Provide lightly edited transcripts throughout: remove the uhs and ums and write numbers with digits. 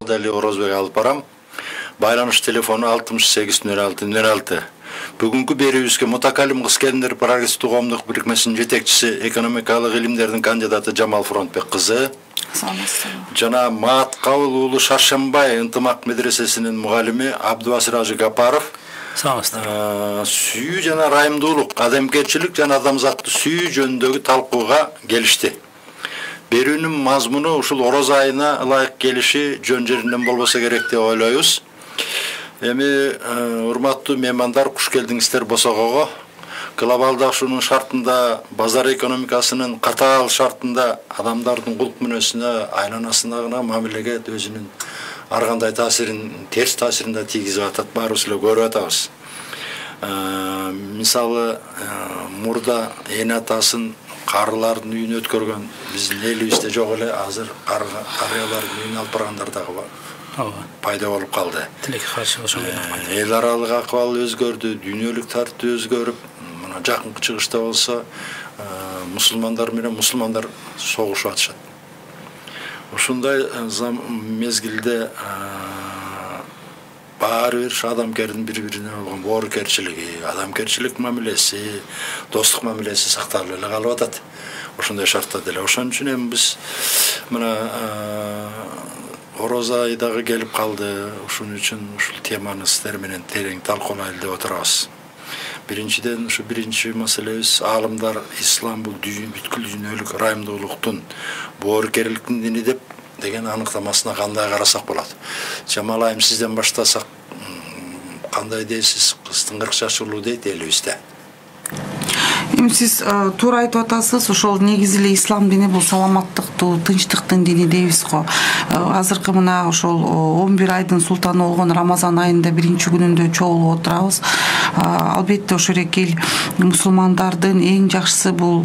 Дали Орозбек алып барам. Байланыш телефону 680606. Бүгүнкү берүүбүзгө Мутакалим кыз-келиндер прогрессивдүү коомдук бирикмесинин жетекчиси, экономикалык илимдердин кандидаты Жамал Фронтбек кызы. Жана Маат Кабыл уулу Шаршембай ынтымак медресесинин мугалими Абдубасир Ажы Гапаров. Сүйүү жана ырайымдуулук, адамгерчилик жана адамзатты сүйүү жөнүндөгү талкууга келишти. Берүүнүн мазмуну ушул Ороз айына ылайык келиши жөн жеринен болбосо керек деп ойлойбуз. Эми урматтуу меймандар, куш келдиңиздер Босогого. Глобалдашуунун шартында, базар экономикасынын катаал шартында адамдардын кулк мүнөзүнө, айланасындагы мамилеге өзүнүн ар кандай таасирин, терс таасирин да тийгизип атат, баарыбыз эле көрүп атабыз. Мисалы, мурда эне атасын карылардын үйүнө өткөргөн биздин элибизде жок эле, азыр карыялардын үйүнө алып баргандар дагы пайда болуп калды. Тилекке каршы ошол эл аралык акыбал өзгөрдү, дүйнөлүк тартып өзгөрүп, мына жакынкы чыгышта болсо мусулмандар менен мусулмандар согушуп атышат. Ушундай мезгилде баары бир адамгердин бири-бирине болгон боорукерчилиги, адамгерчилик мамилеси, достук мамилеси сакталып эле калып атат. Ошондой шартта деле. Ошон үчүн эми биз мына Ороз айы дагы келип калды. Ошон үчүн ушул теманы сиздер менен терең талкуулайлы деп отурабыз. Биринчиден ушу биринчи маселебиз аалымдар ислам бул бүткүл дүйнөлүк ырайымдуулуктун, боорукерликтин дини деген аныктамасына кандай карасак болот? Жамал айым, сизден баштасак, кандай дейсиз? Кыздын 40 жашы улуу дейт элибизде. Эми сиз туура айтып атасыз, ошол негизи эле ислам дини бул саламаттыктуу, тынчтыктын дини дейбиз го. Азыркы мына ошол 11 айдын султаны болгон Рамазан айында биринчи күнүндө чогулуп отурабыз. Албетте ошол эки мусулмандардын эң жакшысы бул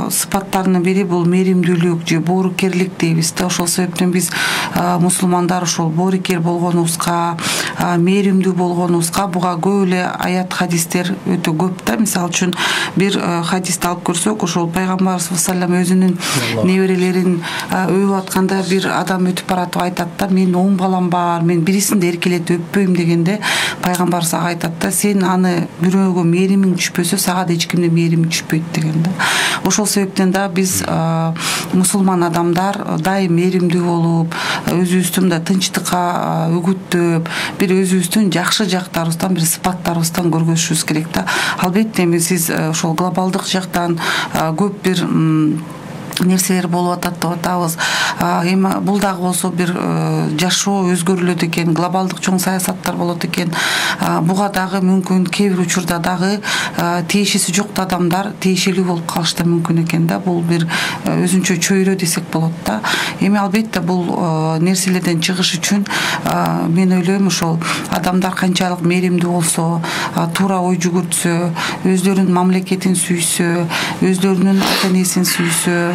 сыпаттарынын бири бул мээримдүүлүк же боорукерлик дейбиз да. Ошол себептен биз мусулмандар ошол боорукер болгонубузга, мээримдүү болгонубузга буга көп эле аят хадистер өтө көп да. Мисалы үчүн бир хадисти алып көрсөк, ошол пайгамбарыбыз саллаллаху алейхи өзүнүн неберелерин өбүп атканда бир адам өтүп баратып айтат да, мен 10 балам бар, мен бирисин да эркелетип өппөйм дегенде пайгамбарыбыз ага айтат да, сен аны бирөөгө мээримиң түшпөсө сага да эч кимдин мээрими түшпөйт деген да. Ошол себептен да биз мусулман адамдар дайым мээримдүү болуп, өзүбүздүн да тынчтыкка үгүттөп, бир өзүбүздүн жакшы жактарыбыздан, бир сыпаттарыбыздан көргөзүшүбүз керек да. Албетте эми сиз ошол глобалдык жактан көп бир нерселер болуп атат деп атабыз. Эми бул дагы болсо бир жашоо өзгөрүлөт экен, глобалдык чоң саясаттар болот экен. Буга дагы мүмкүн кээ бир учурда дагы тиешеси жок адамдар тиешелүү болуп калышы да мүмкүн экен да. Бул бир өзүнчө чөйрө десек болот да. Эми албетте бул нерселерден чыгыш үчүн мен ойлойм, ошол адамдар канчалык мээримдүү болсо, туура ой жүгүртсө, өздөрүнүн мамлекетин сүйсө, өздөрүнүн ата-энесин сүйсө,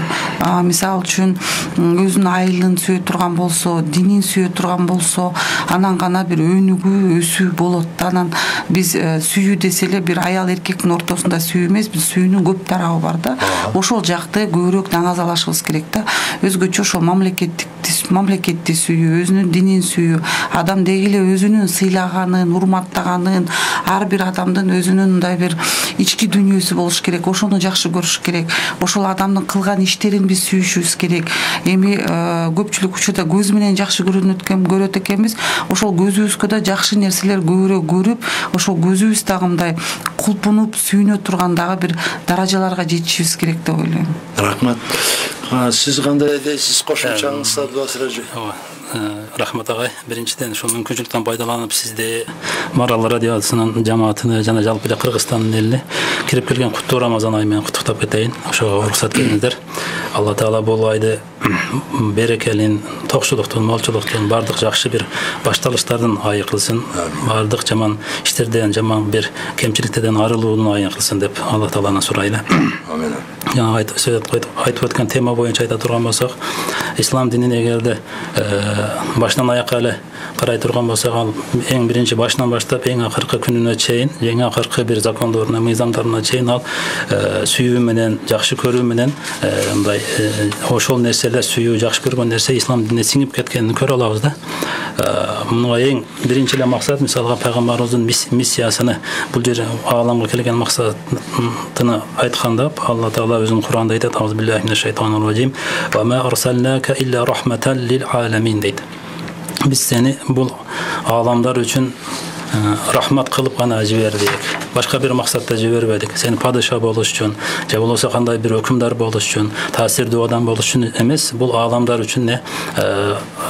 мисалы үчүн өзүнүн айылын сүйө турган болсо, динин сүйө турган болсо, анан гана бир өнүгүү, өсүү болот да. Анан биз сүйүү десе эле бир аял эркектин ортосунда сүйүү эмес, биз сүйүүнүн көп тарабы бар да. Ошол жакты көбүрөөк даңазалашыбыз керек да. Өзгөчө ошол мамлекетти сүйүү, өзүнүн динин сүйүү, адам деги эле өзүнүн сыйлаганын, урматтаганын, ар бир адамдын өзүнүн мындай бир ички дүйнөсү болуш керек. Ошону жакшы көрүш керек. Ошол адамдын кылган иштерин биз сүйүшүбүз керек. Эми көпчүлүк учурда көз менен жакшы көрөт экенбиз. Ошол көзүбүзгө да жакшы нерселер көбүрөөк көрүп, ошол көзүбүз дагы мындай кулпунуп сүйүнө турган дагы бир даражаларга жетишибиз керек деп ойлойм. Рахмат. Сиз кандай дейсиз? Кошумчаңыз Абдубасир ажы? Рахмат агай. Биринчиден ушул мүмкүнчүлүктөн пайдаланып сизди Марал радиосунун жамаатыны жана жалпы эле Кыргызстандын элине кирип келген куттуу Рамазан айы менен куттуктап кетейин. Ошого уруксат бериңиздер. Алла Таала бул айды берекелин, токчулуктун, молчулуктун, бардык жакшы бир башталыштардын айы кылсын. Бардык жаман иштерден, жаман бир кемчиликтерден арылуунун айы кылсын деп Алла Тааладан сурайлы. Амин. Жана айтып өткөн тема боюнча айта турган болсок, ислам динин эгерде башынан аякка эле карай турган болсок, ал эң биринчи башынан баштап эң акыркы күнүнө чейин, эң акыркы бир закондоруна, мыйзамдарына чейин ал сүйүү менен, жакшы көрүү менен мындай ошол нерселер эле сүйүү, жакшы көргөн нерсе ислам динине сиңип кеткенин көрө алабыз да. Мунга эң биринчи эле максат мисалга пайгамбарыбыздын миссиясыны, бул жер ааламга келген максатыны айтканда Алла Таала өзүнүн Кур'анда айтат: "Ауз биллахи минеш шайтанир раджим. Ва ма арсалнака илля рахматан лил аламин" дейт. Биз сени бул ааламдар үчүн рахмат кылып гана жибердик. Башка бир максатта жибербедик. Сен падыша болуш үчүн, же болбосо кандай бир өкүмдар болуш үчүн, таасирдүү адам болуш үчүн эмес, бул ааламдар үчүн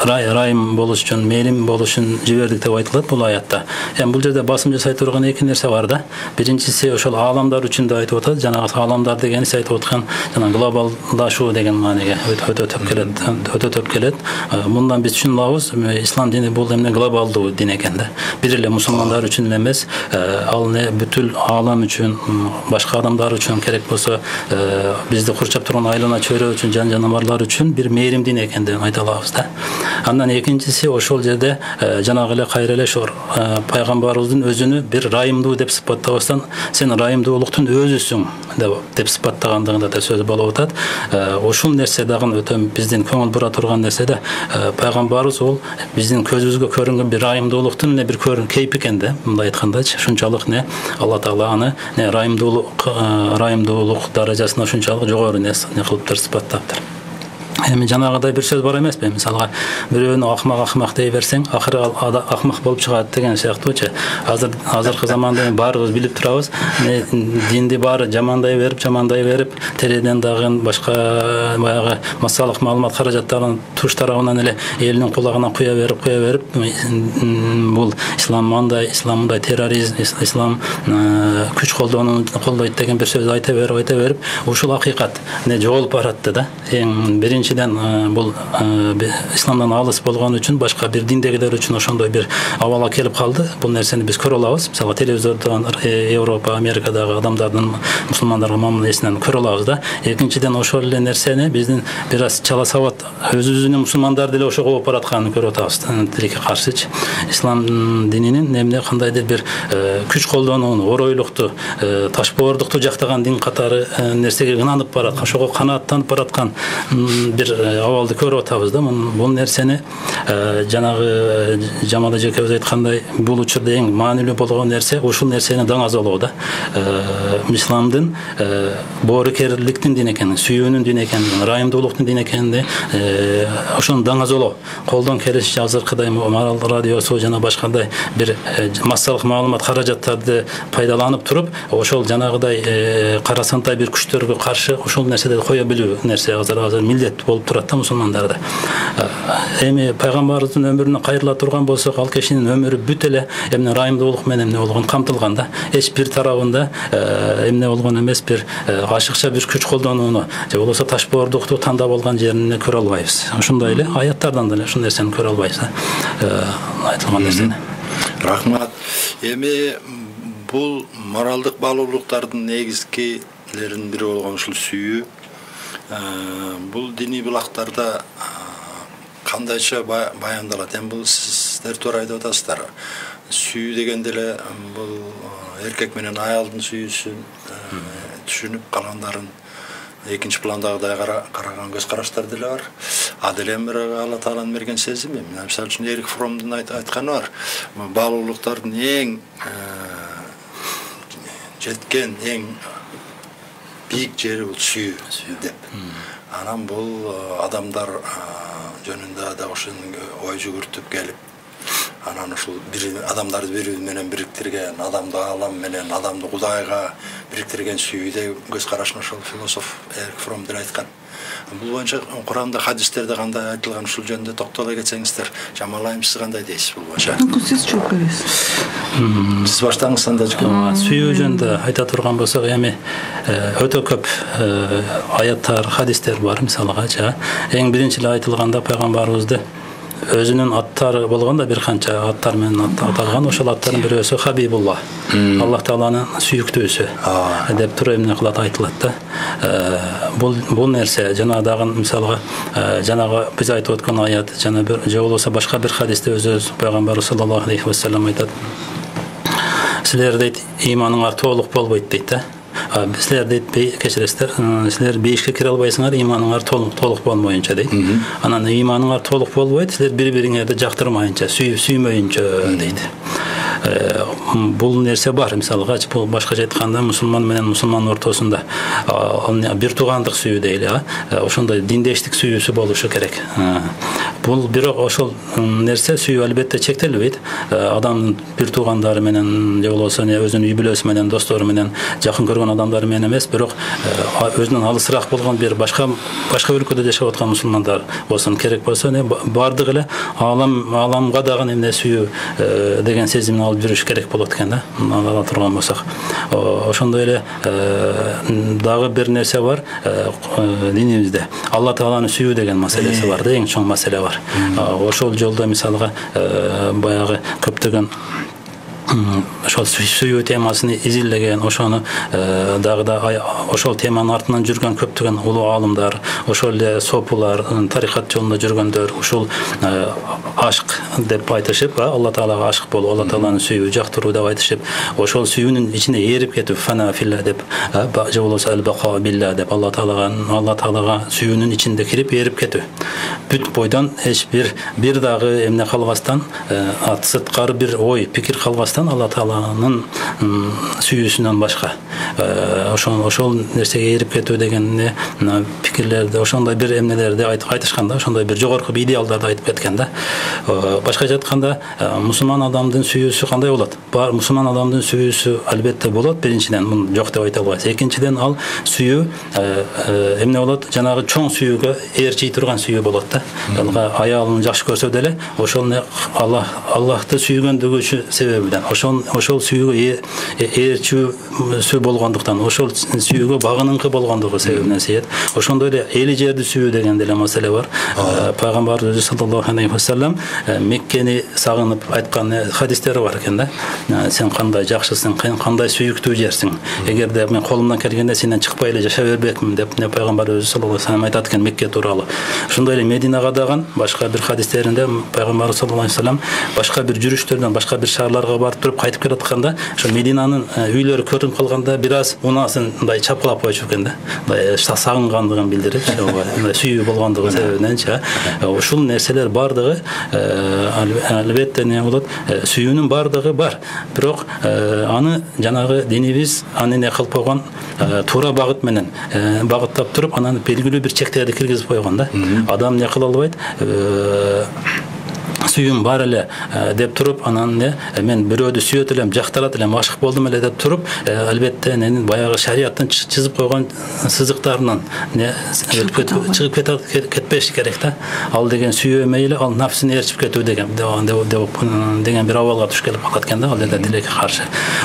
райым болуш үчүн, мейлим болуш үчүн жибердик деп айтылат бул аятта. Эми бул жерде басым жасай турган эки нерсе бар да. Биринчиси ошол ааламдар үчүн деп айтып атат. Жанагы ааламдар дегени сиз айтып аткан жана глобалдашуу деген мааниге өтө төп келет. Мындан биз түшүнөбүз, ислам дини бул эмне глобалдуу дин экен да. Бир эле мусулмандар үчүн эмес, ал не бүтүл аалам үчүн, башка адамдар үчүн, керек болсо бизди курчап турган айлана чөйрө үчүн, жан жаныбарлар үчүн бир мээрим дин экендигин айта алабыз да. Андан экинчиси ошол жерде жанагы эле кайра эле ошо пайгамбарыбыздын өзүнү бир райымдуу деп сыпаттабастан, сен райымдуулуктун өзүсүң деп сыпаттагандыгында да сөз болуп атат. Ушул нерсе дагы өтө биздин көңүл бура турган нерсе да. Пайгамбарыбыз ол биздин көзүбүзгө көрүнгөн бир райымдуулуктун бир кейп экен да. Мындай айткандачы, ушунчалык Алла Таала аны райымдуулук даражасына ушунчалык жогору не кылыптыр, сыпаттаптыр. Эми жанагыдай бир сөз бар эмеспи? Мисалга бирөөнү акмак дей берсең, акыры ал акмак болуп чыгат деген сыяктуучу. Азыркы заманда баарыбыз билип турабыз, динди баары жамандай берип, теледен дагы башка баягы массалык маалымат каражаттарын туш тарабынан эле элдин кулагына куя берип, бул ислам мындай терроризм, ислам күч колдойт деген бир сөз айта берип, ушул акыйкат жоголуп баратты да. Эң биринчиден бул исламдан алыс болгон үчүн, башка бир диндегилер үчүн ошондой бир абалга келип калды. Бул нерсени биз көрө алабыз. Мисалы телевизордон Европа, Америкадагы адамдардын мусулмандарга мамилесинен көрө алабыз да. Экинчиден ошол эле нерсени биздин бир аз чала сабат өзүбүздүн мусулмандар деле ошого болуп баратканын көрүп атабыз. Тилекке каршычы. Ислам дининин эмне кандайдыр бир күч колдонууну, оройлукту, ташбоордукту жактаган дин катары нерсеге ынанып бараткан, ошого канааттанып бараткан бир абалды көрүп атабыз да. Бул нерсени жанагы Жамал эжекебиз айткандай, бул учурда эң маанилүү болгон нерсе ушул нерсени даңазолоо да. Исламдын боорукерликтин дин экенин, сүйүүнүн дин экенин, райымдуулуктун дин экенин ошону даңазолоо. Колдон келишинче азыркыдай Марал радиосу жана башкандай бир массалык маалымат каражаттарды пайдаланып туруп, ошол жанагыдай карасантай бир күчтөргө каршы ошол нерседи кое билүү нерсе азыр милдет болуп турат да мусулмандарда. Эми пайгамбарыбыздын өмүрүнө кайрыла турган болсок, ал кишинин өмүрү бүт эле эмне райымдуулук менен эмне болгон камтылган да. Эч бир тарабында эмне болгон эмес, бир ашыкча бир күч колдонууну же болбосо ташбоордукту тандап алган жерин көрө албайбыз. Ошондой эле аяттардан деле ушул нерсени көрө албайбыз да. Айтылган нерсени. Рахмат. Эми бул моралдык баалуулуктардын негизгилеринин бири болгон ушул сүйүү. Бул диний булактарда кандайча баяндалат? Эми бул сиздер туура айтып атасыздар. Сүйүү дегенде эле бул эркек менен аялдын сүйүүсүн түшүнүп калгандарын экинчи пландагыдай караган көз караштар деле бар. А деле бир Алла Тааланын берген сезими. Мисалы үчүн Эрик Фромдун айтканы бар. Баалуулуктардын эң жеткен эң бийик жери бул сүйүү деп. Анан бул адамдар жөнүндө да ошону ой жүгүртүп келип, анан ушул адамдарды бири менен бириктирген, адамды аалам менен, адамды Кудайга бириктирген сүйүүдө көз карашын ошол философ Эрик Фром деле айткан. Бул боюнча Куранда, хадистерде кандай айтылган, ушул жөнүндө токтоло кетсеңиздер, Жамал айым, сиз кандай дейсиз бул боюнча? Сиз жооп бересиз. Сиз баштаңыз анда. Сүйүү жөнүндө айта турган болсок, эми өтө көп аяттар, хадистер бар. Мисалга, эң биринчи эле айтылганда пайгамбарыбызды өзүнүн аттары болгондо бир канча аттар менен аталган. Ошол аттардын бирөөсү Хабибулла, Аллах Тааланын сүйүктүүсү деп туруп эмне кылат, айтылат да. Бул нерсе жана дагы мисалга жанагы биз айтып өткөн аят жана бир же болбосо башка бир хадисте өзү пайгамбар саллаллаху алейхи ва саллям айтат. Силер дейт, ыйманыңар толук болбойт дейт да. Силер дейт кечиресиздер, силер бейишке кире албайсыңар, иманыңар толук болмоюнча дейт. Анан иманыңар толук болбойт, силер бири-бириңерди жактырмайынча, сүймөйүнчө дейт. Бул нерсе бар. Мисалга, бул башкача айтканда мусулман менен мусулман ортосунда бир туугандык сүйүү дейли, ошондой диндештик сүйүүсү болушу керек. Бул бирок ошол нерсе сүйүү албетте чектелбейт. Адамдын бир туугандары менен же болбосо өзүнүн үй бүлөсү менен, достору менен, жакын көргөн адамдары менен эмес, бирок өзүнөн алысыраак болгон бир башка өлкөдө жашап аткан мусулмандар болсун, керек болсо бардыгы эле ааламга дагы эмне сүйүү деген сезимин алып жүрүш керек болот экен да. Ала турган болсок. Ошондой эле дагы бир нерсе бар динибизде. Алла Тааланы сүйүү деген маселеси бар да, эң чоң маселе бар. Ошол жолдо мисалга баягы көптөгөн ошол сүйүү темасын изилдеген, ошону дагы да ошол теманын артынан жүргөн көптөгөн улуу аалымдар, ошол эле сопулар, тарикат жолунда жүргөндөр ушул ашк деп айтышып, Алла Таалага ашк болуу, Алла Тааланы сүйүү, жактыруу деп айтышып, ошол сүйүүнүн ичине ээрип кетүү, фана филла деп, же болбосо албака билла деп, Алла Таалага сүйүүнүн ичинде кирип ээрип кетүү. Бүт бойдон эч бир дагы эмне калбастан, сырткары бир ой, пикир калбастан Алла Тааланын сүйүүсүнөн башка ошол нерсеге ээрип кетүү деген пикирлерди, ошондой бир эмнелерди айтышканда, ошондой бир жогорку идеалдарды айтып кеткен да. Башкача айтканда, мусулман адамдын сүйүүсү кандай болот? Мусулман адамдын сүйүүсү албетте болот, биринчиден, муну жок деп айта албайсыз. Экинчиден, ал сүйүү эмне болот? Жанагы чоң сүйүүгө ээрчий турган сүйүү болот да. Аялын жакшы көрсө деле, ошол Аллахты сүйгөндүгү себебинен, ошол сүйүүгө ээрчүүсү болгондуктан, ошол сүйүүгө багыныңкы болгондугу себебинен сүйөт. Ошондой эле эли жерди сүйүү деген деле маселе бар. Пайгамбарыбыз өзү саллаллаху алейхи вассалам Меккени сагынып айткан хадистери бар экен да. Сен кандай жакшысың, кандай сүйүктүү жерсиң. Эгерде мен колумдан келгенде сенден чыкпай эле жашап бербекмин деп пайгамбар өзү саллаллаху алейхи вассалам айтат экен Мекке тууралуу. Ошондой эле Мединага дагы башка бир хадистеринде пайгамбар саллаллаху алейхи вассалам башка бир жүрүштөрдөн, башка бир шаарларга барып туруп кайтып келатканда, ошо Мединанын үйлөрү көрүнүп калганда бир аз унаасын мындай чапкылап койчу экен да. Мындай сагынгандыгын билдирип, мындай сүйүү болгондугу себебиненчи. Ушул нерселер бардыгы албетте не болот? Сүйүүнүн бардыгы бар. Бирок аны жанагы динибиз аны не кылып койгон, туура багыт менен багыттап туруп, анан белгилүү бир чектерди киргизип койгон да. Адам не кыла албайт? Сүйүүм бар эле деп туруп, анан мен бирөөдү сүйөт элем, жактырат элем, ашык болдум эле деп туруп, албетте баягы шариаттын чызып койгон сызыктарынан чыгып кетпеш керек да. Ал деген сүйүү мейли, ал нафсыны ээрчип кетүү деген бир абалга туш келип калат экен да, ал жерде тилекке каршы.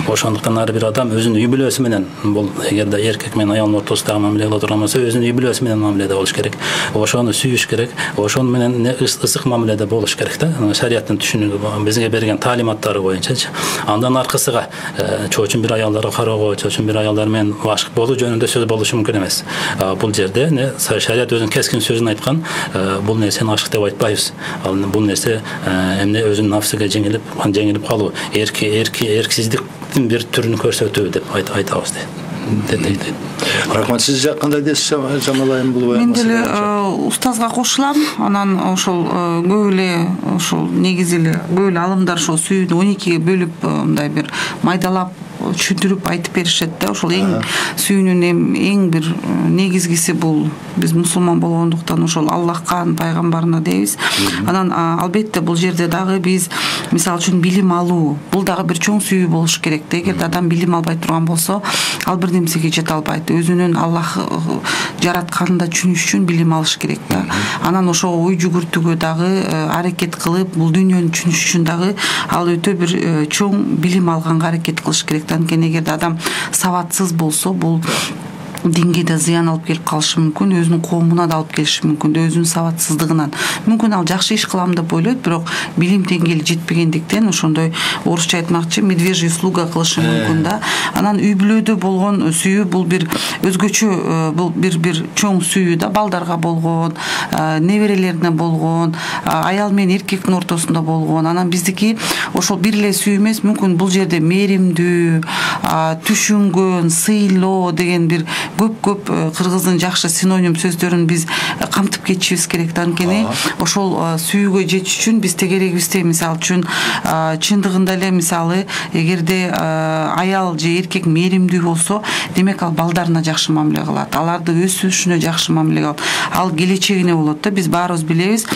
Ошондуктан ар бир адам өзүнүн үй бүлөсү менен, бул эгерде эркек менен аялдын ортосундагы мамиле кыла турган болсо, өзүнүн үй бүлөсү менен мамиледе болуш керек. Ошону сүйүш керек, ошону менен ысык мамиледе болуш керек да. Шариаттын түшүнүгү бизге берген таалиматтары боюнча. Андан аркасыга чоочун бир аялдарга кароого, чоочун бир аялдар менен ашык болуу жөнүндө сөз болушу мүмкүн эмес. Бул жерде шарият өзүнүн кескин сөзүн айткан, бул нерсени ашык деп айтпайбыз. Бул нерсе эмне өзүнүн нафсыга жеңилип калуу, эрксиздиктин бир түрүн көрсөтүү деп айтабыз дейт. Рахмат, сиз кандай дейсиз, Жамал айым, бул мен деле устазга кошулам. Анан ошол көп эле негизи эле көп эле алымдар ошол сүйүүнү 12ге бөлүп мындай бир майдалап түшүндүрүп айтып беришет да. Ошол сүйүүнүн эң бир негизгиси бул биз мусулман болгондуктан ошол Аллахка, пайгамбарына дейбиз. Анан албетте бул жерде дагы биз мисалы үчүн билим алуу, бул дагы бир чоң сүйүү болуш керек да. Эгерде адам билим албай турган болсо, ал бир нерсеге жете албайт. Өзүнүн Аллах жаратканын да түшүнүш үчүн билим алыш керек да. Анан ошого ой жүгүртүүгө дагы аракет кылып, бул дүйнөнү түшүнүш үчүн дагы ал өтө бир чоң билим алганга аракет кылыш керек. Анткени эгерде адам сабатсыз болсо, бул динге да зыян алып келип калышы мүмкүн, өзүнүн коомуна да алып келиши мүмкүн, өзүнүн сабатсыздыгынан. Мүмкүн ал жакшы иш кылам деп ойлойт, бирок билим деңгээли жетпегендиктен ошондой орусча айтмакчы медвежий услуга кылышы мүмкүн да. Анан үй бүлөдө болгон сүйүү бул бир өзгөчө, бул бир чоң сүйүү да, балдарга болгон, неберелерине болгон, аял менен эркектин ортосунда болгон. Анан биздики ошол бир эле сүйүү эмес, мүмкүн бул жерде меримдүү, түшүнгөн, сыйлоо деген бир көп кыргыздын жакшы синоним сөздөрүн биз камтып кетишибиз керек да. Анткени ошол сүйүүгө жетиш үчүн биз тегерегибизде, мисалы үчүн чындыгында эле мисалы эгерде аял же эркек меримдүү болсо, демек ал балдарына жакшы мамиле кылат, аларды өсүшүнө жакшы мамиле кылат, ал келечегине болот да. Биз баарыбыз билебиз,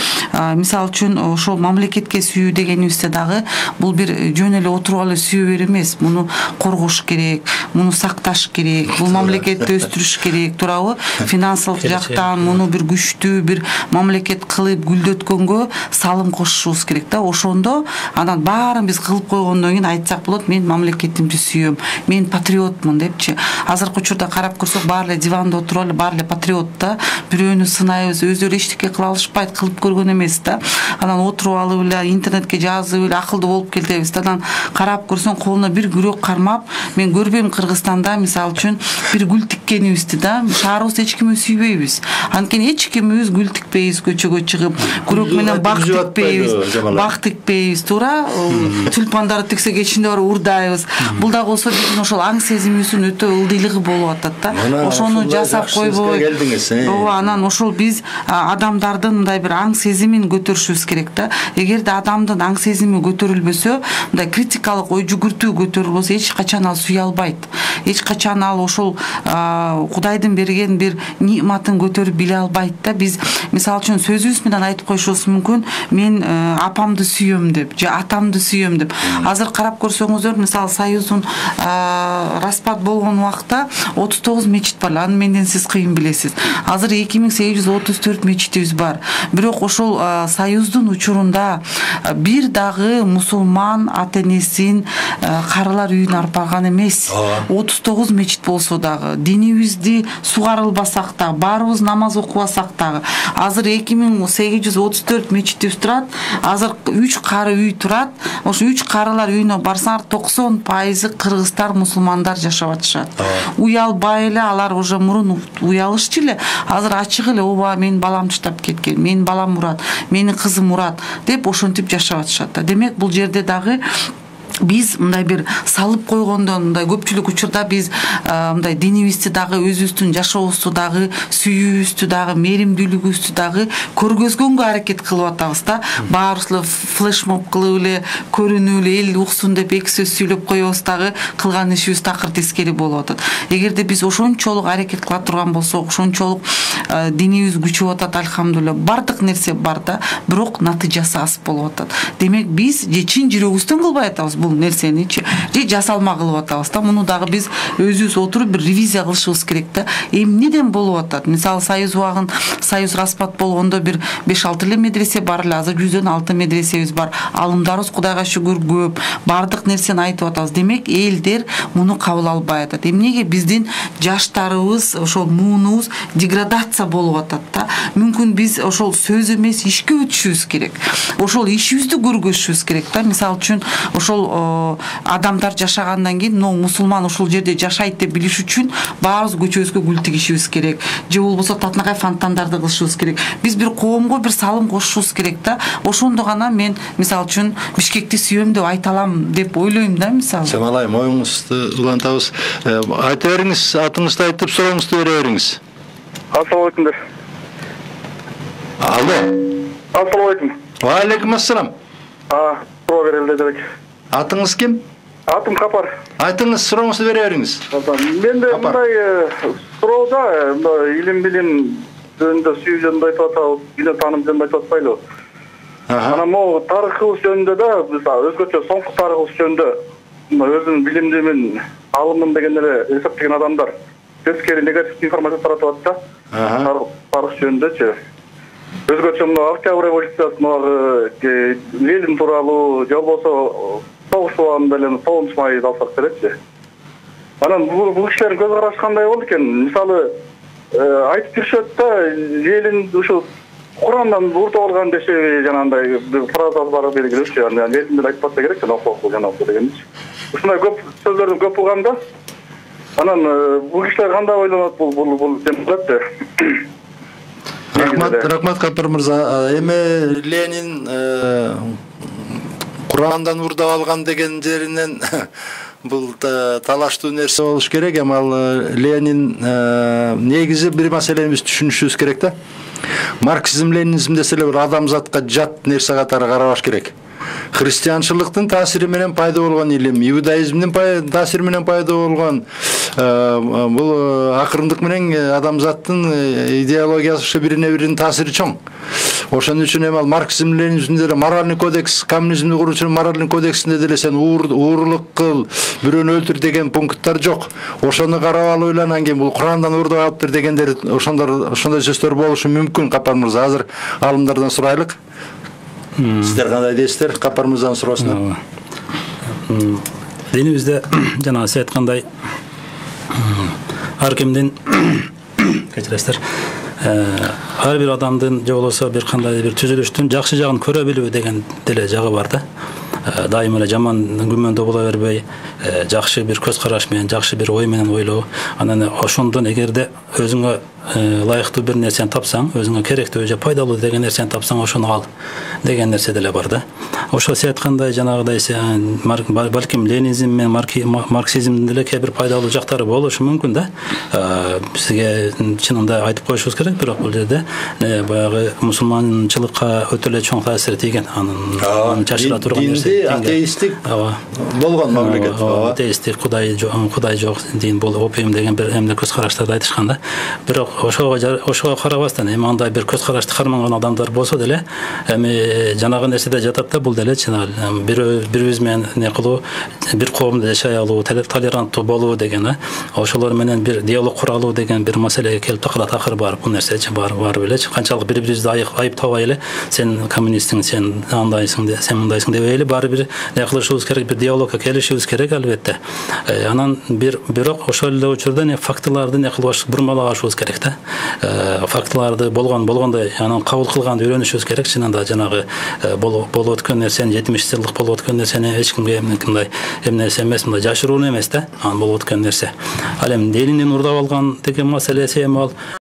мисалы үчүн ошол мамлекетке сүйүү дегенибизде дагы бул бир жөн эле отуруп алып сүйүү берүү эмес, муну коргош керек, муну сакташ керек, бул мамлекетти өстүрүш керек, туурабы? Финансылык жактан муну бир күчтүү бир мамлекет кылып гүлдөткөнгө салым кошушубуз керек да. Ошондо анан баарын биз кылып койгондон кийин айтсак болот, мен мамлекетимди сүйөм, мен патриотмун депчи. Азыркы учурда карап көрсөк, баары эле диванда отуруп алып, баары эле патриот да. Бирөөнү сынайбыз, өздөрү эчтеке кыла алышпайт, кылып көргөн эмес да. Анан отуруп алып эле интернетке жазып эле акылдуу болуп келебиз да. Анан карап көрсөң, колуна бир күрөк кармап, мен көрбөйм Кыргызстанда мисалы үчүн бир гүл тиккенибизди да. Шаарыбызда эч кимди сүйбөйбүз. Анткени эч кимибиз гүл тикпейбиз, көчөгө чыгып, күрөк менен бак тикпейбиз, туура? Тюльпандарды тиксек ичинде барып урдайбыз. Бул дагы болсо биздин ошол аң сезимибиздин өтө ылдыйлыгы болуп атат да. Ошону жасап койбой. Ооба, анан ошол биз адамдардын мындай бир аң сезимин көтөрүшүбүз керек да. Эгерде адамдын аң сезими көтөрүлбөсө, мындай критикалык ой жүгүртүү көтөрүлбөсө, эч качан ал сүйө албайт. Эч качан ал ошол Кудайдын берген бир ниматын көтөрүп биле албайт да. Биз мисалы үчүн сөзүбүз менен айтып коюшубуз мүмкүн, мен апамды сүйөм деп, же атамды сүйөм деп. Азыр карап көрсөңүздөр, мисалы Союздун распад болгон убакта 39 мечит бар. Аны менден сиз кыйын билесиз. Азыр 2834 мечитибиз бар. Бирок ошол Союздун учурунда бир дагы мусулман ата-энесин карылар үйүн арпаган эмес. 39 мечит болсо дагы, динибизди сугарылбасак да, баарыбыз намаз окубасак дагы, азыр 2834 мечитибиз турат. Азыр 3 кары үй турат. Ошо 3 карылар үйүнө барсаңар, 90% кыргыздар, мусулмандар жашап атышат. Уялбай эле, алар уже мурун уялышчу эле, азыр ачык эле, ооба, менин балам таштап кеткен, менин балам урат, менин кызым урат деп ошентип жашап атышат да. Демек бул жерде дагы биз мындай бир салып койгондон, мындай көпчүлүк учурда биз мындай динибизди дагы, өзүбүздүн жашообузду дагы, сүйүүбүздү дагы, меримдүүлүгүбүздү дагы көргөзгөнгө аракет кылып атабыз да. Баарыбыз эле флешмоб кылып эле, көрүнүп эле, эл уксун деп эки сөз сүйлөп коебуз дагы, кылган ишибиз такыр тескери болуп атат. Эгерде биз ошончолук аракет кыла турган болсок, ошончолук динибиз күчөп атат, альхамдулилла, бардык нерсе бар да, бирок натыйжасы аз болуп атат. Демек биз же чын жүрөгүбүздөн кылбай атабыз бул нерсеничи, же жасалма кылып атабыз да. Муну дагы биз өзүбүз отуруп бир ревизия кылышыбыз керек да. Эмнеден болуп атат? Мисалы Союз распад болгондо бир 5-6 эле медресе бар эле, азыр 100дөн 6 медресебиз бар. Алымдарыбыз Кудайга шүгүр көп, бардык нерсени айтып атабыз. Демек элдер муну кабыл албай атат. Эмнеге биздин жаштарыбыз, ошол муунубуз деградация болуп атат да. Мүмкүн биз ошол сөз эмес, ишке өтүшүбүз керек. Ошол ишибизди көргөзүшүбүз керек да. Мисалы үчүн ошол адамдар жашагандан кийин, мусулман ушул жерде жашайт деп билиш үчүн баарыбыз көчөбүзгө гүл тигишибиз керек. Же болбосо татынакай фонтандарды кылышыбыз керек. Биз бир коомго бир салым кошушубуз керек да. Ошондо гана мен мисалы үчүн Бишкекти сүйөм деп айта алам деп ойлойм да, мисалы. Самалайым, оюңузду улантабыз. Айта бериңиз, атыңызды айтып, сурооңузду бере бериңиз. Assalomu alaykum. Алло. Assalomu alaykum. Ва алейкум ассалам. Суроо берелди дебек. Атыңыз ким? Атым Капар. Айтыңыз, сурооңузду бере бериңиз. Менде мындай суроодо илим жөнүндө, сүйүү жөнүндө айтып атабыз, билим тааным жөнүндө айтып атпайлы. Анан могу тарыхыбыз жөнүндө да, биз өзгөчө соңку тарыхыбыз жөнүндө өзүнүн билимдимин, алымын деген эле эсептеген адамдар тескери негативдүү информация таратып атат да. Тарых жөнүндөчү. Өзгөчө Октябрь революциясы, Ленин тууралуу, же болбосо согуш убагында эле 9 майды алсак керекчи. Анан бул кишилердин көз карашы кандай болду экен? Мисалы, айтып жүрүшөт да, Ленин ушул Курандан уртуп алган дешеби, жанагындай фразасы бар белгилүүчү. Анан Ленин айтпаса керек, окуп жанагы дегенчи. Ушундай көп сөздөрдү көп угганда, анан бул кишилер кандай ойлонот бул демократия? Рахмат Капар мырза. Эми Ленин Курандан урдап алган деген жеринен бул талаштуу нерсе болуш керек. Эми ал Ленин негизи бир маселени биз түшүнүшүбүз керек да. Марксизм, ленинизм деселе бир адамзатка жат нерсе катары карабаш керек. Христианчылыктын таасири менен пайда болгон илим, иудаизмдин таасири менен пайда болгон бул акырындык менен адамзаттын идеологиясы ушу бирине-биринин таасири чоң. Ошон үчүн эми ал марксизм, ленинизмде деле моральный кодекс, коммунизмди куруучунун моральный кодексинде деле сен уурулук кыл, бирөөнү өлтүр деген пункттар жок. Ошону карап алып эле анан кийин бул Курандан урдап алыптыр дегендер, ошондой сөздөр болушу мүмкүн. Капар мырза, азыр алымдардан сурайлык. Сиздер кандай дейсиздер? Капар мырзанын суроосуна. Динибизде жана сиз айткандай ар кимдин кечиресиздер, ар бир адамдын же болбосо бир кандай бир түзүлүштүн жакшы жагын көрө билүү деген деле жагы бар да. Дайыма эле жаман күмөндө боло бербей, жакшы бир көз караш менен, жакшы бир ой менен ойлоо. Анан ошондон эгерде өзүңө ылайыктуу бир нерсени тапсаң, өзүңө керектүү же пайдалуу деген нерсени тапсаң, ошону ал деген нерсе деле бар да. Ошо сиз айткандай жанагыдай балким ленинизм менен марксизмдин деле кээ бир пайдалуу жактары болушу мүмкүн да. Сизге чынында айтып коюшубуз керек, бирок бул жерде баягы мусулманчылыкка өтө эле чоң таасири тийген. Анын чачыра турган нерсе. Атеисттик болгон мамлекет. Атеисттик, Кудай жок дин, бул опиум деген бир эмне көз караштарды айтышкан да. Бирок ошого карабастан эми андай бир көз карашты карманган адамдар болсо деле, эми жанагы нерседе жатат да, бул деле бирибиз менен не кылуу, бир коомдо жашай алуу, толеранттуу болуу деген, ошолор менен бир диалог кура алуу деген бир маселеге келип такалат. Акыры барып бул нерсечи барып эле канчалык бири-бирибизди айыптабай эле, сен коммунистсиң, сен андайсың, сен мындайсың дебей эле баары бир не кылышыбыз керек, бир диалогко келишибиз керек албетте. Анан бирок ошол эле учурда фактыларды не кылбаш, бурмалагашыбыз керек да. Фактыларды болгондой анан кабыл кылганды үйрөнүшүбүз керек. Чынында жанагы болуп өткөн нерсени, 70 жылдык болуп өткөн нерсени эч кимге мындай эмнеси эмес, мындай жашыруу эмес да, анан болуп өткөн нерсе. Ал эми Лениндин урдап алган деген маселеси эми ал